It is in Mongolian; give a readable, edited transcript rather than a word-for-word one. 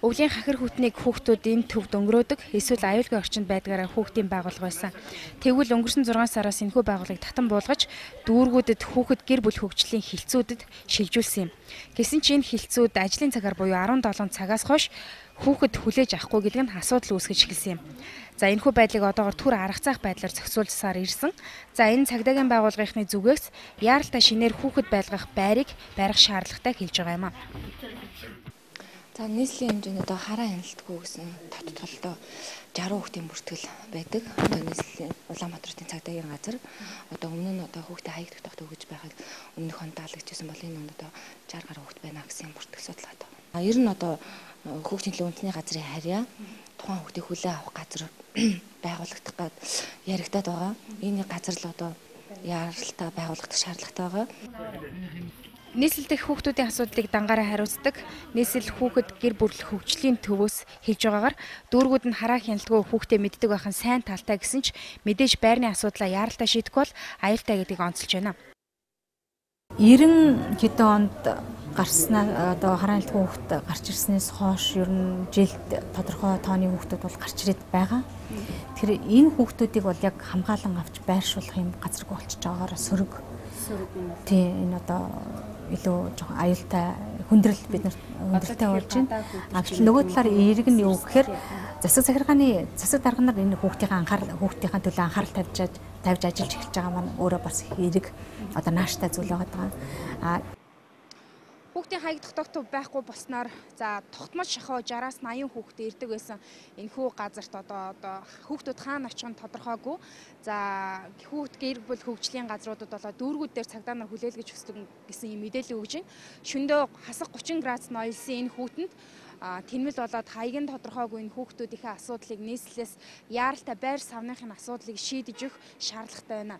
Өвлийн хахир хүүтнийг хүүхдүүд энэ төвд өнгөрөөдөг эсвэл аюулгүй орчинд байдгаараа хүүхдийн байгууллага байсан. Тэгвэл өнгөрсөн 6 сараас энэхүү байгууллагыг татан буулгаж дүүргүүдэд хүүхэд гэр бүл хөгжлийн хилцүүдэд шилжүүлсэн юм. Гэсэн чинь энэ хилцүүд ажлын цагаар буюу 17 цагаас хойш хүүхэд хүлээж авахгүй гэдэг нь асуудал үүсгэж эхэлсэн юм. За энэхүү байдлыг одоогоор түр арга цаах байдлаар зохицуулсаар ирсэн. За энэ цагдаагийн байгууллагын зүгээс яаралтай шинээр хүүхэд байлгах байрыг барих шаардлагатай хэлж байгаа юм а. За нийслэлийн хэмжээнд одоо хараа хяналтгүй гэсэн тодтолтой 60 хүүхдийн бүртгэл байдаг. Одоо нийслэлийн Улаанбаатарын цагдаагийн газар одоо өмнө нь одоо хүүхдээ хаягдах тогт өгж байхад өмнөх онд даалгажсэн бол энэ онд одоо 60 гаруй хүүхд байна гэсэн бүртгэл судалгаад байна. Ер нь одоо хүүхдийн төлөө үндэсний газрын харьяа тухайн хүүхдийг хүлээн авах газар байгуулагдах гээд яригадад байгаа. Энэ газар л одоо яаралтай байгуулагдах шаардлагатай байгаа. Нийслэл дэх хүүхдүүдийн асуудлыг дангаараа хариуцдаг нийслэл хүүхэд гэр бүл хөгжлийн төвөөс хэлж байгаагаар дүүргүүд нь хараа хяналтгүй хүүхдээ мэддэг байх нь сайн талтай гэсэн ч мэдээж байрны асуудлаа яаралтай шийдэхгүй бол аюултай гэдгийг онцолж байна. 90 хэдэн онд гарснаа одоо хараа хяналтгүй хүүхэд гарч ирснээс хойш ер нь жилд тодорхой тооны хүүхдүүд бол гарч ирээд байгаа. Тэр энэ хүүхдүүдийг бол яг хамгаалан авч байршуулах юм газаргүй болчихж байгаагаар сөрөг. Тийм энэ одоо илүү жоохон аюултай хүндрэл бид нарт хүндрэлтэй болж байна. Гэвч нөгөө талаар эерэг нь юу гэхээр засаг захиргааны засаг дарга нар энэ хүүхдийнхээ төлөө анхаарал тавьж ажиллаж эхэлж байгаа маань өөрөө бас эерэг одоо нааштай зүйл байгаа. Хүүхдийн хаягдах тогтов байхгүй болсноор за тогтмол шахуу 60-аас 80 хүүхдээ ирдэг байсан энэхүү газарт одоо хүүхдүүд хаана очих нь тодорхойгүй. За хүүхд гэр бүл хөгжлийн газруудад болоо дүүргүүд дээр цагдаа нар хүлээлгэж өсдөг гэсэн юм мэдээлэл өгж байна. Шөндөө хасах 30 градус ноёлсон энэ хүүтэнд тэнмэл болоод хаягийн тодорхойгүй энэ хүүхдүүдийнхээ асуудлыг нийслэлээс яаралтай байр савныхын асуудлыг шийдэж өгөх шаардлагатай байна.